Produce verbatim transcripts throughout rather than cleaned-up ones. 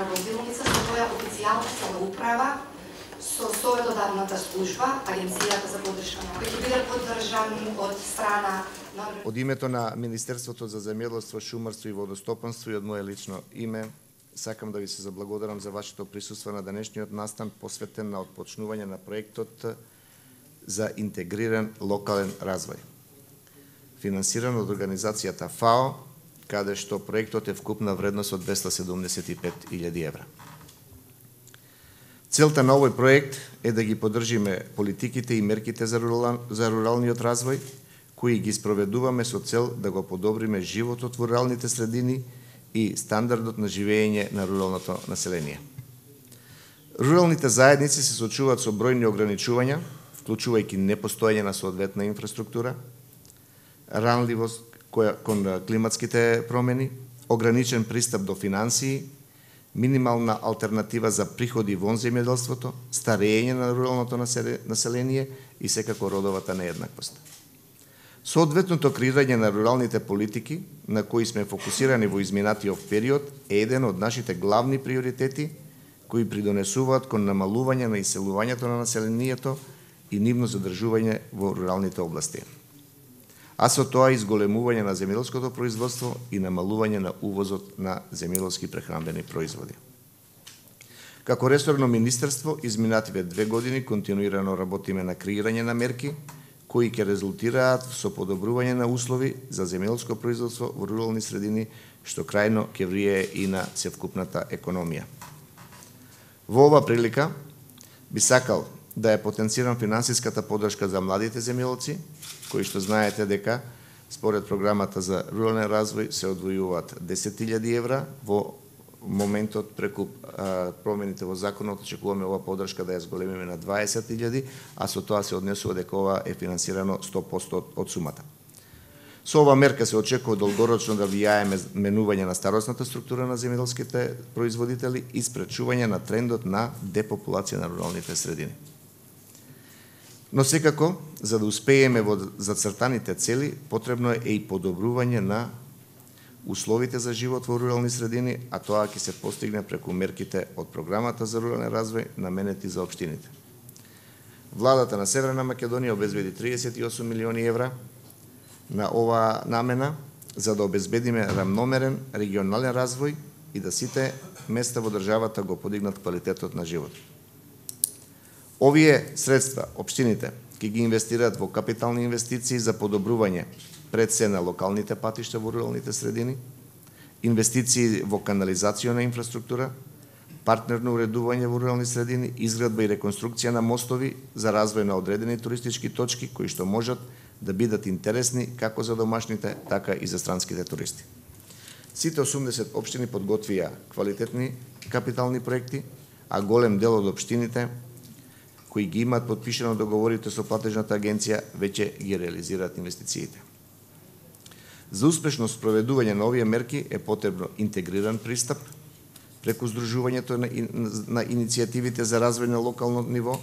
општина Роздилница со која официјална самоуправа со советодавната служба, Агенцијата за поддршка на кој ќе биде поддржан од страна на... Од името на Министерството за земјоделство, шумарство и водостопанство и од моје лично име, сакам да ви се заблагодарам за вашето присуство на денешниот настан посветен на отпочнување на проектот за интегриран локален развој, финансиран од организацијата ФАО, каде што проектот е вкупна вредност од двесте седумдесет и пет илјади евра. Целта на овој проект е да ги поддржиме политиките и мерките за, рурал, за руралниот развој, кои ги спроведуваме со цел да го подобриме животот во руралните средини и стандардот на живење на руралното население. Руралните заедници се соочуваат со бројни ограничувања, вклучувајќи непостоење на соодветна инфраструктура, ранливост која кон климатските промени, ограничен пристап до финансии, минимална алтернатива за приходи вон земјоделството, старење на руралното население и секако родовата нееднаквост. Соодветното креирање на руралните политики, на кои сме фокусирани во изминатиот период, е еден од нашите главни приоритети кои придонесуваат кон намалување на иселувањето на населението и нивно задржување во руралните области, а со тоа изголемување на земјоделското производство и намалување на увозот на земјоделски прехранбени производи. Како ресорно министерство, изминативе две години континуирано работиме на креирање на мерки кои ќе резултираат со подобрување на услови за земјоделско производство во рурални средини, што крајно ќе влијае и на севкупната економија. Во ова прилика би сакал да ја потенцирам финансиската поддршка за младите земјоделци, кои што знаете дека според програмата за рурален развој се одвојуваат десет илјади евра. Во моментот преку а, промените во законот очекуваме ова поддршка да ја зголемиме на дваесет илјади, а со тоа се однесува дека ова е финансирано сто проценти од, од сумата. Со ова мерка се очекува долгорочно да влијаеме менување на старосната структура на земјоделските производители и спречување на трендот на депопулација на руралните средини. Но секако, за да успееме во зацртаните цели, потребно е и подобрување на условите за живот во рурални средини, а тоа ќе се постигне преку мерките од програмата за рурален развој наменети за општините. Владата на Северна Македонија обезбеди триесет и осум милиони евра на оваа намена за да обезбедиме рамномерен регионален развој и да сите места во државата го подигнат квалитетот на живот. Овие средства општините ќе ги инвестираат во капитални инвестиции за подобрување пред се на локалните патишта во руралните средини, инвестиции во канализациона инфраструктура, партнерно уредување во рурални средини, изградба и реконструкција на мостови за развој на одредени туристички точки кои што можат да бидат интересни како за домашните, така и за странските туристи. Сите осумдесет општини подготвија квалитетни капитални проекти, а голем дел од општините кои ги имаат подпишано договорите со платежната агенција веќе ги реализираат инвестициите. За успешно спроведување на овие мерки е потребно интегриран пристап преку здружувањето на, на иницијативите за развој на локално ниво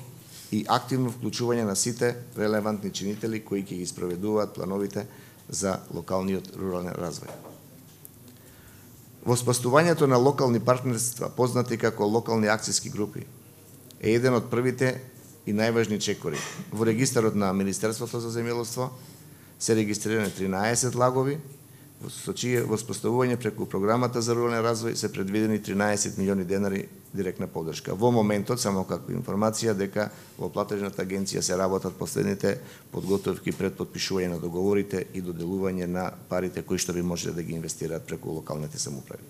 и активно вклучување на сите релевантни чинители кои ќе ги спроведуваат плановите за локалниот рурален развој. Воспоставувањето на локални партнерства, познати како локални акцијски групи, е еден од првите и најважни чекори. Во регистарот на Министерството за земјоделство се регистрирани тринаесет лагови, со чие воспоставување преку програмата за рурален развој се предвидени тринаесет милиони денари директна поддршка. Во моментот, само како информација, дека во платежната агенција се работат последните подготовки пред подпишување на договорите и доделување на парите кои што би можеле да ги инвестираат преку локалните самоуправи.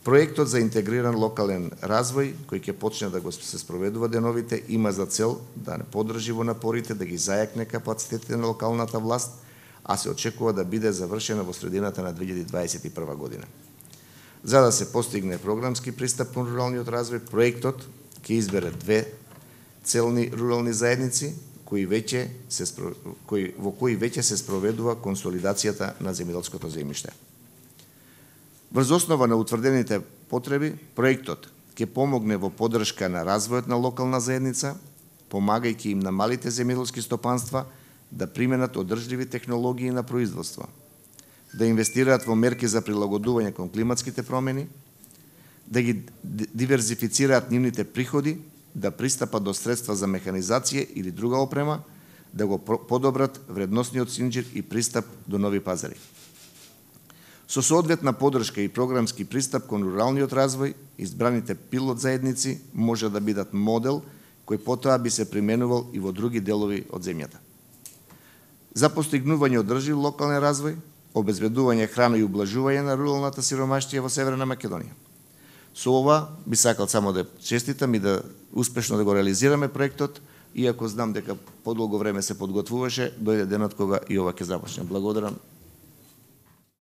Проектот за интегриран локален развој, кој ќе почне да го се спроведува деновите, има за цел да не поддржи во напорите да ги зајакне капацитетите на локалната власт, а се очекува да биде завршена во средината на две илјади дваесет и прва година. За да се постигне програмски пристап кон руралниот развој, проектот ќе избере две целни рурални заедници кои веќе се кои во кои веќе се спроведува консолидацијата на земјоделското земјиште. Врз основа на утврдените потреби, проектот ќе помогне во поддршка на развојот на локална заедница, помагајќи им на малите земјоделски стопанства да применат одржливи технологии на производство, да инвестираат во мерки за прилагодување кон климатските промени, да ги диверзифицираат нивните приходи, да пристапат до средства за механизација или друга опрема, да го подобрат вредносниот синџир и пристап до нови пазари. Со соодветна подршка и програмски пристап кон руралниот развој, избраните пилот заедници може да бидат модел кој потоа би се применувал и во други делови од земјата. За постигнување одржив локален развој, обезбедување храна и ублажување на руралната сиромаштија во Северна Македонија. Со ова би сакал само да честитам и да успешно да го реализираме проектот, иако знам дека подолго време се подготвуваше, дојде денот кога и ова ќе започне. Благодарам.